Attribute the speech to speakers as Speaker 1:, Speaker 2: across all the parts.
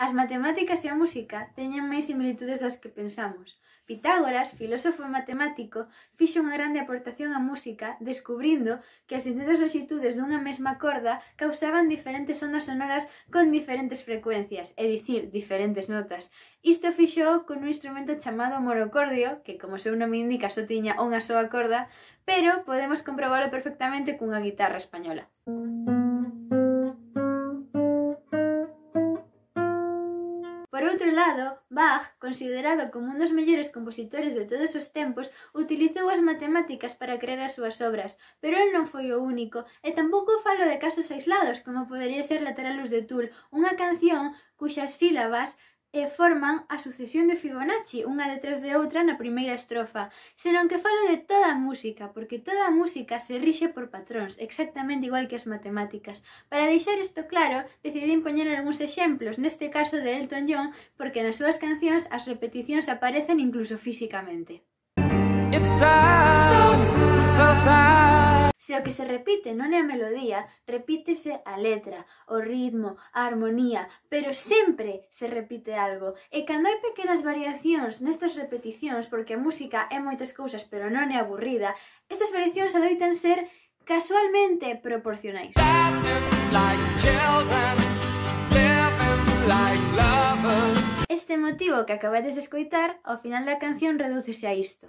Speaker 1: As matemáticas e a música teñen máis similitudes das que pensamos. Pitágoras, filósofo e matemático, fixo unha grande aportación á música descubrindo que as distintas longitudes dunha mesma corda causaban diferentes ondas sonoras con diferentes frecuencias, é dicir, diferentes notas. Isto fixo con un instrumento chamado monocordio, que como seu nome indica só tiña unha soa corda, pero podemos comprobalo perfectamente cunha guitarra española. Por outro lado, Bach, considerado como un dos mellores compositores de todos os tempos, utilizou as matemáticas para crear as súas obras, pero el non foi o único, e tampouco falo de casos aislados, como podería ser Lateralus de Tool, unha canción cuxas sílabas forman a sucesión de Fibonacci, unha detrás de outra na primeira estrofa, senón que falo de toda a música, porque toda a música se rixe por patróns, exactamente igual que as matemáticas. Para deixar isto claro, decidín poñer algúns exemplos, neste caso de Elton John, porque nas súas cancións as repeticións aparecen incluso físicamente. Se o que se repite non é a melodía, repítese a letra, o ritmo, a armonía, pero sempre se repite algo. E cando hai pequenas variacións nestas repeticións, porque a música é moitas cousas pero non é aburrida, estas variacións adoitan ser casualmente proporcionais. Este motivo que acabades de escoitar, ao final da canción redúcese a isto.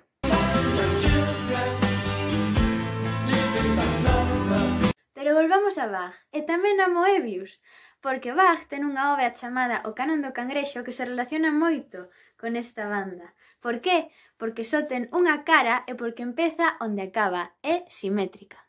Speaker 1: Pero volvamos a Bach, e tamén a Moebius, porque Bach ten unha obra chamada O Canon do Cangrexo que se relaciona moito con esta banda. Por qué? Porque só ten unha cara e porque empeza onde acaba, é simétrica.